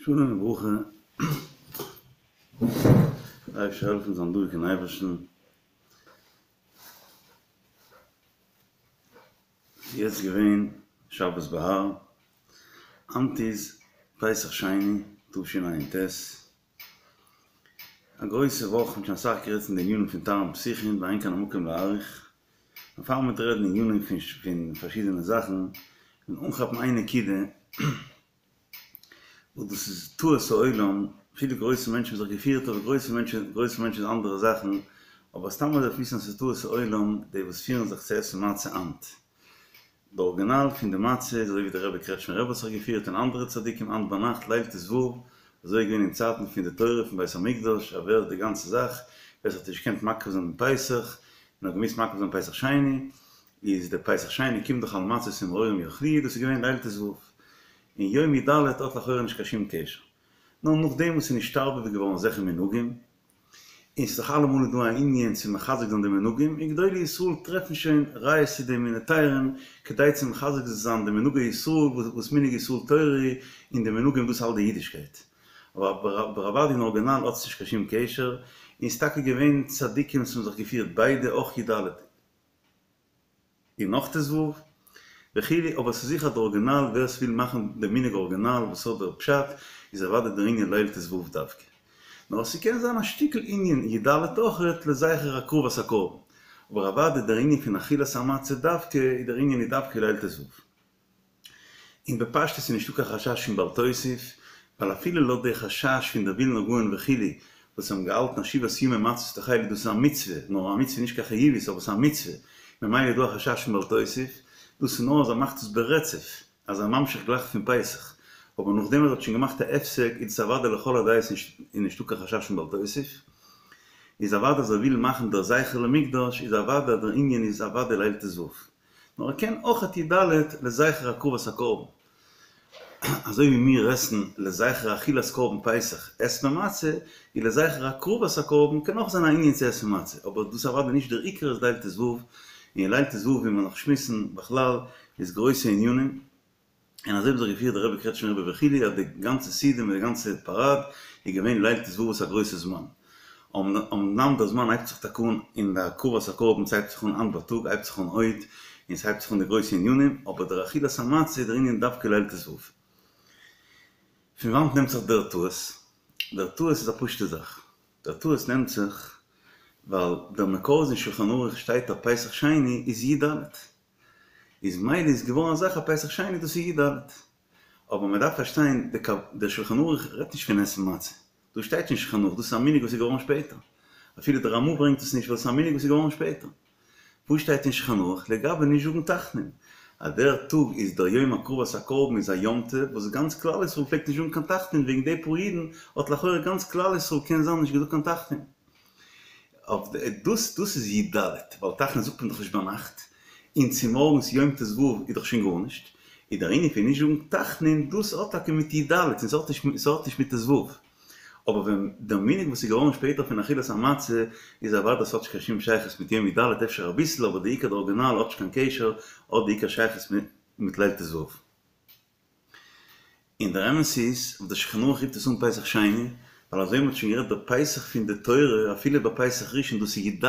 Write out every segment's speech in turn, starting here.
שלום וברכה, דער אייבערשטער זאל העלפן זיין דבוק אין אייבערשטן, ס'איז יעצט געווען שבת בהר, היינט איז פסח שני תשע"ט, א גרויסע וואך, מ'האט שוין אסאך גערעדט פון די ענינים פון טהרן פסחים ואין כאן המקום להאריך, און פאר מ'וועט רעדן ענינים פון פארשידענע זאכן, און אנכאפן איין נקודה, וואס דאס איז טעות העולם, אפילו גרויסע מענטשן האבן זיך געפירט, אבער גרויסע מענטשן, גרויסע מענטשן איז אנדערע זאכן, אבער סתם אזוי דארף וויסן אז ס'איז טעות העולם די וואס פירן זיך צו עסן מצה היינט. די ארגינאל פון די מצה איז אזוי ווי דער רבי קרעטשמער רבי האט זיך געפירט און אנדערע צדיקים היינט ביינאכט ליל ט"ו, אזוי איז געווען אין צייטן פון די תורה פון בית המקדש, אז ווער די גאנצע זאך, ווער ס'האט נישט געקענט מקריב זיין דעם פסח, און האט געמוזט מקריב זיין פסח שני, איז דער פסח שני קומט דאך על מצות ומרורים יאכלוהו, דאס איז געווען ליל ט"ו, און יום י"ד האט לכאורה נישט קיין שום קשר. נאר נאכדעם וואס ס'איז נשתרבב געווארן אזעלכע מנהגים, און ס'איז דאך אלעמאל איז דא א ענין צו מחזק זיין די מנהגים, און גדולי ישראל טרעפן שוין ראיות צו דעם און היתרים כדי צו מחזק זיין די מנהגי ישראל וואס מנהג ישראל תורה און די מנהגים דאס האלט די אידישקייט. אבער אוודאי אין ארגינאל האט עס נישט קיין שום קשר, און ס'איז טאקע געווען צדיקים וואס האבן זיך געפירט ביידע אויך י"ד. און נאך ט"ו וכו', אבער ס'איז זיכער די ארגינאל, ווער ס'וויל מאכן די מנהג ארגינאל וואס האט דער פשט, איז אוודאי דער ענין ליל ט"ו דווקא. נאר ס'קען זיין א שטיקל ענין י"ד אויכעט לזכר הקרבת הקרבן, אבער אוודאי דער ענין פון אכילת המצה דווקא איז דער ענין איז דווקא ליל ט"ו. און בפשטות איז נישטא קיין חשש פון בל תוסיף, ווייל אפילו לויט די חשש פון דער ווילנא גאון וכו' וואס האבן געהאלטן אז שבעת ימים מצות תאכלו דאס איז א מצוה, נאר א מצוה נישט קיין חיובית אבער ס'איז א מצוה, ממילא איז דא א חשש פון בל תוסיף, דאס איז נאר אז ער מאכט עס ברצף, אז ער ממשיך גלייך פון פסח, אבער נאכדעם אז ער האט שוין געמאכט א הפסק איז דאס אוודאי לכל הדעות נישט איז נישטא קיין חשש פון בל תוסיף, איז אוודאי אז ער וויל מאכן דער זכר למקדש איז אוודאי דער ענין איז אוודאי ליל ט"ו. נאר ער קען אויכעט י"ד לזכר הקרבת הקרבן, אזוי ווי מיר עסן לזכר אכילת קרבן פסח עסט מען מצה, איז לזכר הקרבת הקרבן קען אויך זיין א ענין צו עסן מצה, אבער דאס אוודאי נישט דער עיקר איז ליל ט"ו, און ליל ט"ו ווי מיר נאך שמועסן בכלל איז גרויסע ענינים. און אזוי האט זיך געפירט דער רבי קרעטשמער רבי וכו' אז די גאנצע סעודה מיט די גאנצע פאראד איז געווען ליל ט"ו וואס א גרויסע זמן. אמנם דער זמן הייבט זיך טאקע אן אין די הקרבת הקרבן ס'הייבט זיך אן היינט בייטאג הייבט זיך אן עוד און ס'הייבט זיך אן די גרויסע ענינים אבער דער אכילת המצה איז דער ענין דווקא ליל ט"ו. פון וואנט נעמט זיך דער טעות? דער טעות איז א פשוטע זאך. דער טעות נעמט זיך ווייל דער מקור איז אין שולחן ערוך שטייט אז פסח שני איז י"ד. איז מילא איז געווארן א זאך אז פסח שני דאס איז י"ד. אבער מען דארף פארשטיין דער שולחן ערוך רעדט נישט פון עסן מצה. דאס שטייט נישט אין שולחן ערוך, דאס איז א מנהג וואס איז געווארן שפעטער. אפילו דער רמ"א ברענגט עס נישט ווייל עס איז א מנהג וואס איז געווארן שפעטער. וואס שטייט אין שולחן ערוך לגבי נישט זאגן תחנון? אז דער טאג איז דער יום הקרבת הקרבן איז א יום טוב וואס גאנץ כלל ישראל פלעגט נישט זאגן קיין תחנון וועגן די פאר אידן האט לכאורה גאנץ כלל ישראל קען זיין נישט געזאגט קיין תחנון. אויף דאס דאס איז י"ד, ווייל תחנון זאגט מען דאך נישט ביינאכט, און צומארגנס יום ט"ו איז דאך שוין גארנישט, איז דער ענין פון נישט זאגן תחנון דאס האט טאקע מיט י"ד און ס'האט נישט ס'האט נישט מיט ט"ו. אבער ווען דער מנהג וואס איז געווארן שפעטער פון אכילת המצה איז אוודאי ס'האט נישט קיין שום שייכות מיט יום י"ד אפשר אביסל אבער די עיקר די ארגינאל האט נישט קיין קשר האט די עיקר שייכות מיט ליל ט"ו. און דער אמת איז, אויף דער שולחן ערוך רופט עס אן פסח שני, ווייל אזוי ווי מ'האט שוין גערעדט דער פסח פון די תורה, אפילו ביי פסח ראשון דאס איז י"ד,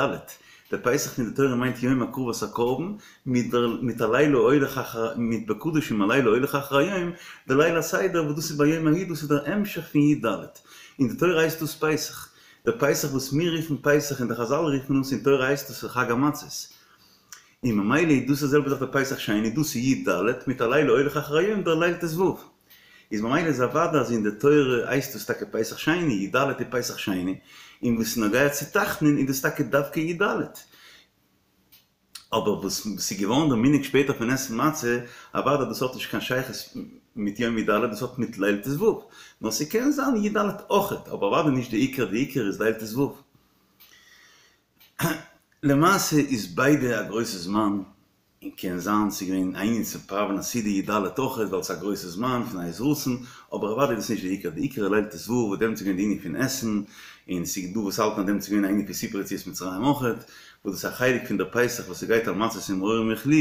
דער פסח פון די תורה מיינט יום הקרבת הקרבן, מיט דער מיט הלילה הולך אחר מיט בקדשים הלילה הולך אחר היום, דער ליל הסדר וואס דאס איז ביום ההוא דאס איז דער המשך פון י"ד, אין די תורה הייסט דאס פסח, דער פסח וואס מיר רופן פסח און די חזל רופן אונז אין תורה הייסט דאס חג המצות. און ממילא איז דאס די זעלבע זאך די פסח שני, דאס איז י"ד, מיט הלילה הולך אחר היום דער ליל ט"ו. איז ממילא איז אוודאי אז אין די תורה הייסט דאס טאקע פסח שני, י"ד איז פסח שני, און וואס איז נוגע צו תחנון איז דאס טאקע דווקא י"ד. אבער וואס ס'איז געווארן דער מנהג שפעטער פון עסן מצה, אוודאי דאס האט נישט קיין שייכות מיט יום י"ד, דאס האט מיט ליל ט"ו. נאר ס'קען זיין י"ד אויכעט, אבער אוודאי נישט די עיקר, די עיקר איז ליל ט"ו. למעשה איז ביידע א גרויסע זמן, און קען זיין ס'איז געווען א ענין צו פראווען א סעודה י"ד אויכעט ווייל ס'איז א גרויסע זמן פון עת רצון, אבער אוודאי איז דאס נישט די עיקר, די עיקר איז ליל ט"ו וואס דעמאלטס איז געווען די ענין פון עסן, און ס'איז דא וואס האלטן אז דעמאלטס איז געווען א ענין פון סיפור יציאת מצרים אויכעט, וואס דאס איז א חלק פון דער פסח וואס ס'גייט על מצות ומרורים יאכלוהו,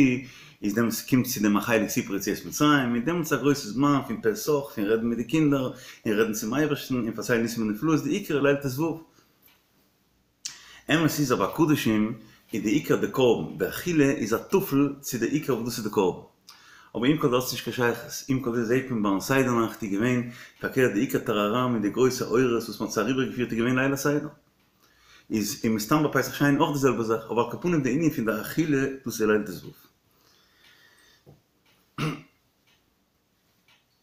איז דעמאלטס קומט צו דעם א חלק סיפור יציאת מצרים, און דעמאלטס איז א גרויסע זמן פון פסח, פון רעדן מיט די קינדער, און רעדן צום אייבערשטן, און פארציילן ניסים ונפלאות, די עיקר ליל ט"ו. אמת איז אז ביי קדשים איז די עיקר די קרבן, די אכילה איז א טפל צו די עיקר וואס דאס איז די קרבן. אבער עם כל זה האט עס נישט קיין שייכות, עם כל זה זעהט מען ביים סדר נאכט איז געווען פארקערט די עיקר טאראראם און די גרויסע אורות וואס מען האט זיי אריבערגעפירט איז געווען ליל הסדר. איז און מסתם ביי פסח שני אויך די זעלבע זאך, אבער על כל פנים די ענין פון די אכילה דאס איז ליל ט"ו.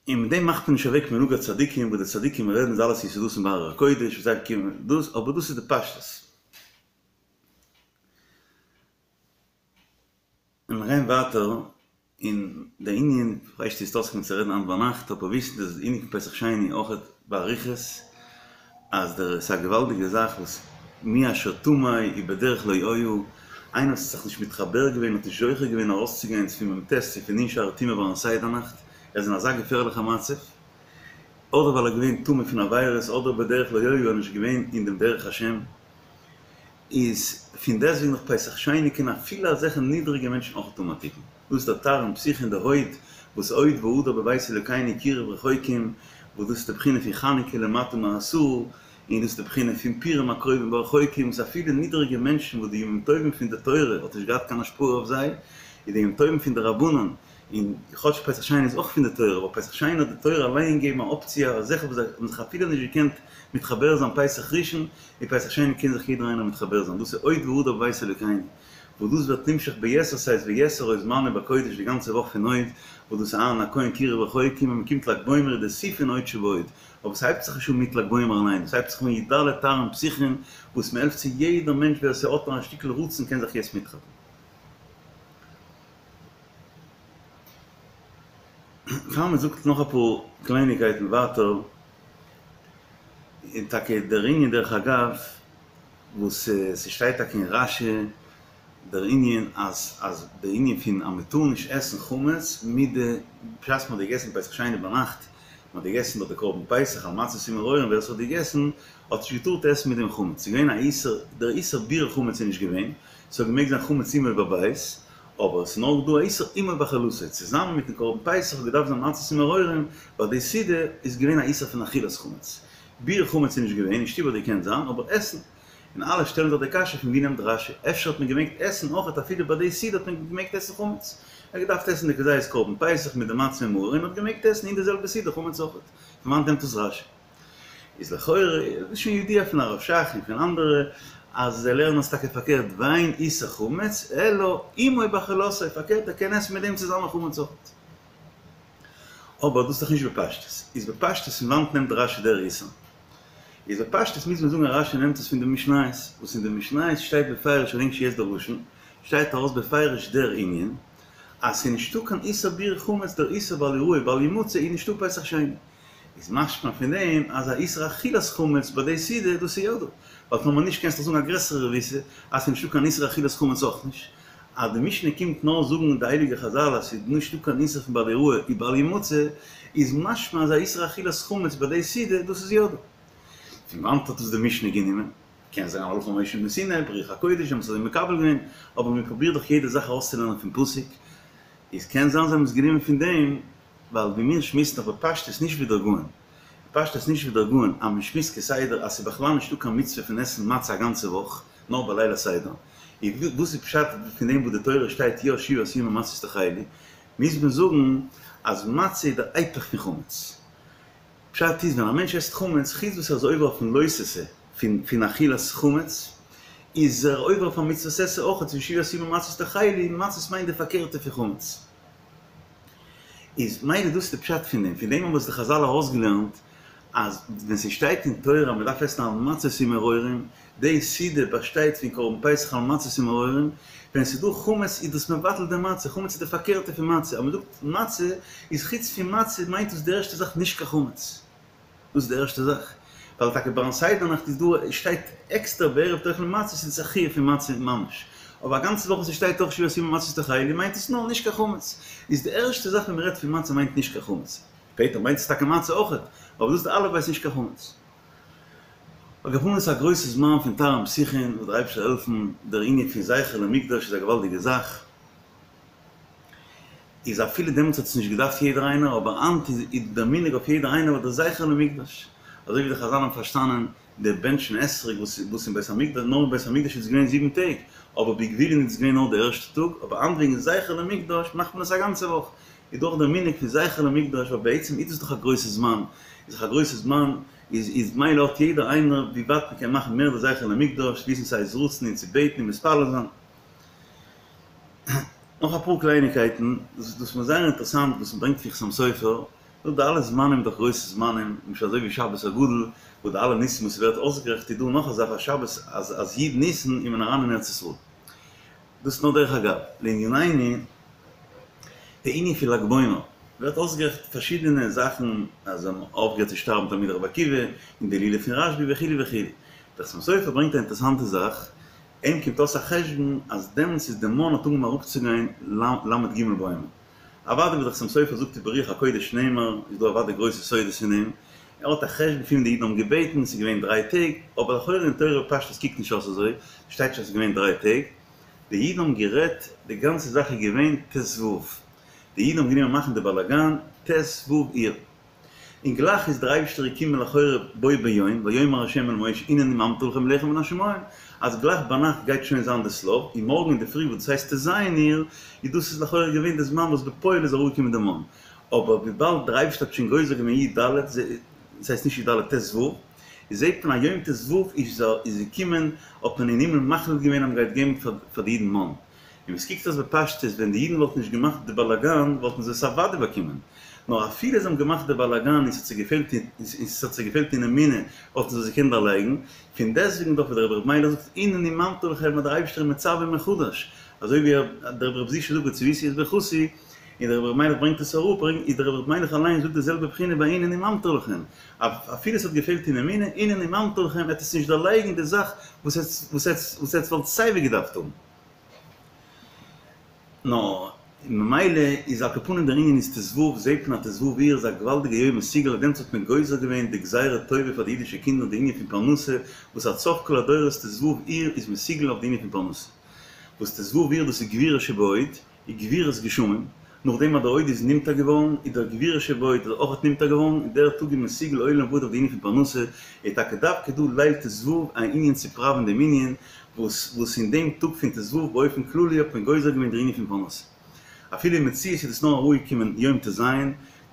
און מיט דעם מאכט מען נישט אוועק מנהג הצדיקים וואס די צדיקים רעדן איז אלעס יסודות בהר הקודש וואס זיי קומען דאס אבער דאס איז די פשטות. און מיר גייען ווייטער אין די ענין, כ'ווייס נישט צו עס איז אויסגעקומען צו רעדן היינט ביינאכט אבער וויסן אז די ענין פון פסח שני אויכעט באריכות אז דער ס'איז א געוואלדיגע זאך וואס מי אשר טמא ובדרך לא היה, איינער וואס האט זיך נישט מתחבר געווען האט נישט זוכה געווען ארויסצוגיין פון מ"ט צו פון נ' שערי טומאה ביים סדר נאכט, ער איז אין אזא געפערליכע מצב, אדער ווייל ער איז געווען טמא פון עבירות אדער בדרך לא היה ער איז נישט געווען אין דעם דרך השם, איז פון דעסטוועגן נאך פסח שני קען אפילו אזעלכע נידריגע מענטשן אויך האבן א תיקון. דאס איז דער תרעין פתיחין די הוד וואס הוד והדר בבית אלוקינו קירוב רחוקים, וואס דאס איז די בחינה פון חנוכה למטה מעשרה, און דאס איז די בחינה פון פורים הקרובים והרחוקים, וואס אפילו נידריגע מענטשן וואס די ימים טובים פון די תורה האט נישט געהאט קיין השפעה אויף זיי, איז די ימים טובים פון די רבנן, און כאטש פסח שני איז אויך פון די תורה, אבער פסח שני האט די תורה אליין געגעבן א אפציע אז אזעלכע וואס האבן זיך אפילו נישט געקענט מתחבר זיין פסח ראשון, און פסח שני קען זיך יעדער איינער מתחבר זיין, דאס איז הוד והדר בבית אלוקינו, וואס דאס ווערט נמשך ביתר שאת ויתר עוז זמנו בקודש די גאנצע וואך פון הוד, וואס דאס איז אהרן הכהן קירוב רחוקים און מ'קומט ל"ג בעומר איז די שיא פון הוד שבהוד, אבער ס'הייבט זיך נישט אן מיט ל"ג בעומר אליין, ס'הייבט זיך אן י"ד תרעין פתיחין וואס מ'העלפט צו יעדער מענטש ווער ס'האט נאר א שטיקל רצון קען זיך יעצט מיטכאפן. פאר מ'זאגט נאך אפאר קלייניגקייטן ווייטער, און טאקע דער ענין דרך אגב וואס ס'שטייט טאקע אין רש"י דער ענין אז אז די ענין פון אז מ'טאר נישט עסן חמץ מיט די בשעת מ'האט געגעסן פסח שני ביינאכט, מ'האט געגעסן דאך די קרבן פסח על מצות ומרורים ווער ס'האט געגעסן האט נישט געטארט עסן מיט דעם חמץ, ס'איז געווען א איסור, דער איסור ביעור חמץ איז נישט געווען, ס'האט געמעגט זיין חמץ עמו בבית, אבער עס איז נאר דא א איסור עמו באכילתו, צוזאמען מיטן קרבן פסח האט געדארפט זיין מצות ומרורים, ביי די סעודה איז געווען א איסור פון אכילת חמץ. ביעור חמץ איז נישט געווען, אין שטוב האט געקענט זיין, אבער עסן. און אלע שטעלן זיך די קשיא פון ווי נעמט רש"י, אפשר האט מען געמעגט עסן אויכעט אפילו ביי די סעודה האט מען געמעגט עסן חמץ. ער האט געדארפט עסן די כזית קרבן פסח מיט די מצה און מרור און האט געמעגט עסן אין די זעלבע סעודה חמץ אויכעט. פון וואנט נעמט עס רש"י? איז לכאורה איז שוין ידוע פון הרב שך און פון אנדערע אז זיי לערנען עס טאקע פארקערט ואין איסור חמץ אלא עמו באכילתו פארקערט ער קען עסן מיט דעם צוזאמען חמץ אויכעט. אבער דאס איז דאך נישט בפשטות. איז בפשטות פון וואנט נעמט רש"י דער איסור? איז בפשטות מוז מען זאגן אז רש"י נעמט עס פון די משניות, וואס אין די משניות שטייט בפירוש כ'דענק נישט יעצט דער לשון, שטייט ארויס בפירוש דער ענין אז ס'איז נישטא קיין איסור ביעור חמץ דער איסור בל יראה בל ימצא איז נישטא פסח שני. איז משמע פון דעם אז א איסור אכילת חמץ ביי די סעודה דאס איז יא דא, ווייל טאמער נישט קענסטו זאגן א גרעסערע רבותא אז ס'איז נישטא קיין איסור אכילת חמץ אויך נישט, אז די משנה קומט נאר זאגן די הייליגע חזל אז ס'איז נישטא קיין איסור פון בל יראה ובל ימצא, איז משמע אז א איסור אכילת חמץ ביי די סעודה דאס איז יא דא. פון וואנט האט עס די משנה גענומען? קען זיין הלכה למשה מסיני, ברוח הקודש האבן עס אזוי מקבל געווען, אבער מען פרובירט דאך יעדע זאך ארויסצולערנען פון פסוק, איז קען זיין זיי האבן עס גענומען פון דעם, ווייל ווי מיר שמועסן דאך בפשטות נישט ווי דער גאון, בפשטות נישט ווי דער גאון, אז מען שמועסט כסדר אז ס'איז בכלל נישטא קיין מצוה פון עסן מצה א גאנצע וואך, נאר ביי ליל הסדר, איז וואס איז פשט פון דעם וואס די תורה שטייט יא שבעת ימים מצות תאכלו, מוז מען זאגן אז מצה איז דער היפך פון חמץ. פשט איז ווען א מענטש עסט חמץ, חוץ וואס ער איז עובר אויפן לא תעשה פון פון אכילת חמץ, איז ער עובר אויף א מצוות עשה אויך, פון שבעת ימים מצות תאכלו, מצות מיינט די פארקערטע פון חמץ. איז מילא דאס איז די פשט פון דעם, פון דעם האבן עס די חזל ארויסגעלערנט אז ווען ס'שטייט אין תורה אז מ'דארף עסן על מצות ומרורים, די סעודה באשטייט פון קרבן פסח על מצות ומרורים, ווען ס'איז דא חמץ איז דאס מבטל די מצה, חמץ איז די פארקערטע פון מצה, אז מ'זאגט מצה איז חוץ פון מצה מיינט דאס די ערשטע זאך נישט קיין חמץ. דאס איז די ערשטע זאך, ווייל טאקע ביים סדר נאכט איז דא שטייט עקסטער בערב תאכלו מצות איז עס א חיוב פון מצה ממש, אבער א גאנצע וואך וואס עס שטייט אויך שבעת ימים מצות תאכלו מיינט עס נאר נישט קיין חמץ, איז די ערשטע זאך ווען מען רעדט פון מצה מיינט נישט קיין חמץ, שפעטער מיינט עס טאקע מצה אויכעט, אבער דאס איז די אלף בית נישט קיין חמץ. על כל פנים ס'איז א גרויסע זמן פון תרעין פתיחין, וואס דער אייבערשטער זאל העלפן, דער ענין פון זכר למקדש איז א געוואלדיגע זאך, איז אפילו דעמאלטס האט עס נישט געדארפט יעדער איינער, אבער היינט איז דער מנהג אויף יעדער איינער וואס דער זכר למקדש, אזוי ווי די חזל האבן פארשטאנען די בענטשן אתרוג וואס וואס אין בית המקדש, נאר אין בית המקדש איז עס געווען זיבן טעג, אבער בגבולין איז עס געווען נאר די ערשטע טאג, אבער היינט וועגן זכר למקדש מאכט מען עס א גאנצע וואך, איז דאך דער מנהג פון זכר למקדש, ווייל בעצם איז דאס דאך א גרויסע זמן, איז דאך א גרויסע זמן, איז איז מילא האט יעדער איינער ווי ווייט מען קען מאכן מער די זכר למקדש, וויסן ס'איז רצון און צו בעטן און מתפלל זיין. נאך אפאר קלייניגקייטן, דאס איז מיר זייער אינטערעסאנט וואס מ'ברענגט פון חתם סופר, דא די אלע זמנים דאך גרויסע זמנים, למשל אזוי ווי שבת הגדול, וואס די אלע ניסים וואס ס'ווערט אויסגערעכנט איז דא נאך א זאך אז שבת אז אז י' ניסן איז מען אריין אין ארץ ישראל. דאס איז נאר דרך אגב. לענינינו, די ענין פון לג בעומר, ווערט אויסגערעכנט פארשידענע זאכן אז זיי האבן אויפגעהערט צו שטארבן תלמידי רבי עקיבא, און די הילולא פון רשב"י וכו' וכו'. דער חתם סופר ברענגט א אינטערעסאנטע זאך, אים קומט אויס א חשבון אז דעמאלטס איז די מן האט אנגעהויבן אראפצוגיין ל"ג בעומר. אוודאי ווי דער חתם סופר זאגט וברוח הקודש נאמר, איז דא אוודאי גרויסע סודות אין דעם, ער האט א חשבון פון ווען די אידן האבן געבעטן, ס'איז געווען דריי טעג, אבער לכאורה אין תורה בפשטות קוקט נישט אויס אזוי, שטייט נישט אז ס'איז געווען דריי טעג, די אידן האבן גערעדט, די גאנצע זאך איז געווען ט"ו, די אידן האבן גענומען מאכן די באלאגאן ט"ו אייר. און גלייך איז דער אייבישטער געקומען לכאורה בו ביום, ויאמר ה' אל משה הנני ממטיר לכם לחם מן השמים, אז גלייך ביינאכט גייט שוין זיין די שליו, און מארגן אינדערפרי וואס דאס הייסט ט"ז אייר, איז דאס איז לכאורה געווען די זמן וואס בפועל איז אראפגעקומען די מן, אבער וויבאלד דער אייבישטער האט שוין גוזר געווען י"ד, דאס הייסט נישט י"ד ט"ו, איז זעט מען אז יום ט"ו איז איז געקומען האט מען אין הימל מחליט געווען אז מען גייט געבן פאר די אידן מן. און ווי ס'קוקט אויס בפשטות ווען די אידן וואלטן נישט געמאכט די באלאגאן וואלטן זיי עס אוודאי באקומען, נאר אפילו זיי האבן געמאכט די באלאגאן און ס'האט זיי געפעלט און ס'האט זיי געפעלט אין אמונה וואלטן זיי עס געקענט דערלייגן, פון דעסטוועגן דאך ווי דער רבי ר' מיילעך זאגט הנני ממטיר לכם אז דער אייבערשטער איז מצווה מחדש, אזוי ווי דער רבי ר' זושא זאגט וצויתי את ברכתי, און דער רבי ר' מיילעך ברענגט עס אראפ, איז דער רבי ר' מיילעך אליין זאגט די זעלבע בחינה ביי הנני ממטיר לכם, אפילו ס'האט געפעלט אין אמונה, הנני ממטיר לכם עט עס נישט דערלייגן די זאך וואס עטס וואלט סייווי געדארפט האבן. נאר ממילא איז על כל פנים דער ענין איז ט"ו, זעהט מען אז ט"ו אייר איז א געוואלדיגע יום מסוגל אויף דעם האט מען גוזר געווען די גזירה טובה פאר די אידישע קינדער די ענין פון פרנסה וואס עד סוף כל הדורות ט"ו אייר איז מסוגל אויף די ענין פון פרנסה וואס ט"ו אייר דאס איז גבורה שבהוד איז גבורת גשמים, נאכדעם אז דער הוד איז נמטר געווארן, איז דער גבורה שבהוד איז אויך נמטר געווארן, און דער טאג איז מסוגל לעולם ועד אויף די ענין פון פרנסה, איז טאקע דווקא דא ליל ט"ו א ענין צו פראווען דעם ענין, וואס וואס אין דעם טאג פון ט"ו באופן כללי האט מען גוזר געווען דער ענין פון פרנסה. אפילו אין מציאות איז דאס נאר אראפגעקומען יום ט"ז,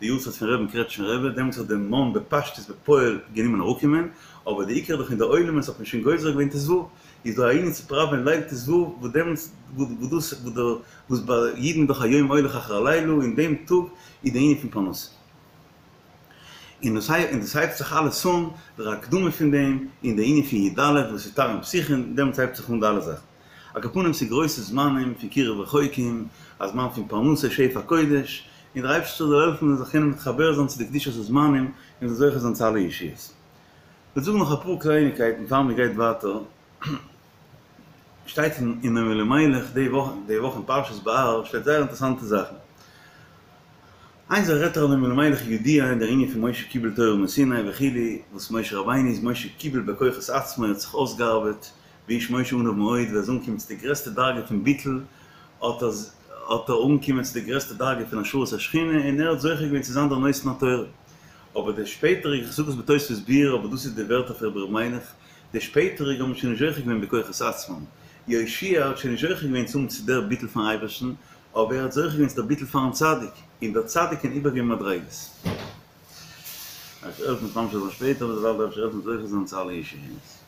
די יארצייט פון רבי'ן קרעטשניפער רבי, דעמאלטס האט דער מן בפשטות בפועל גענומען אראפקומען, אבער די עיקר דאך אין די עולמות האט מען שוין גוזר געווען ט"ו, איז דא א ענין צו פראווען ליל ט"ו וואס דעמאלטס וואס דאס וואס דער וואס ביי אידן איז דאך היום הולך אחר הלילה אין דעם טאג איז די ענין פון פרנסה. און דאס און דאס הייבט זיך אלעס אן דער הקדמה פון דעם און די ענין פון י"ד וואס איז תרעין פתיחין דעמאלטס הייבט זיך אן די אלע זאכן. על כל פנים ס'איז גרויסע זמנים פון קירוב רחוקים, א זמן פון פרנסה שפע קודש, און דער אייבערשטער זאל העלפן מ'זאל זיך קענען מתחבר זיין צו די קדושת הזמנים און מ'זאל זוכה זיין צו אלע ישועות. כ'וועל זאגן נאך אפאר קלייניגקייטן פאר מ'גייט ווייטער. שטייט אין נועם אלימלך די וואך די וואך אין פרשת בהר שטייט זייער אינטערעסאנטע זאכן. איין זאך רעדט דער נועם אלימלך ידוע אין דער ענין פון משה קיבל תורה מסיני וכו' וואס משה רבינו איז משה קיבל בכוחות עצמו ער האט זיך אויסגעארבעט והאיש משה עניו מאוד ווען ער איז אנגעקומען צו די גרעסטע דרגה פון ביטול האט ער האט ער אנגעקומען צו די גרעסטע דרגה פון השראת השכינה און ער האט זוכה געווען צו זיין דער נותן התורה. אבער די שפעטעריגע, איך זאג עס בתוספות ביאור אבער דאס איז די ווערטער פון רבי ר' מיילך, די שפעטעריגע האבן שוין נישט זוכה געווען בכוחות עצמם, יהושע האט שוין נישט זוכה געווען צו האבן צו דער ביטול פארן אייבערשטן, אבער ער האט זוכה געווען צו דער ביטול פארן צדיק, און דער צדיק קען איבערגעבן מדריגות. אפשר העלפן ממשיך זיין שפעטער, אבער דערווייל דארף איך העלפן זוכה זיין צו אלע ישועות.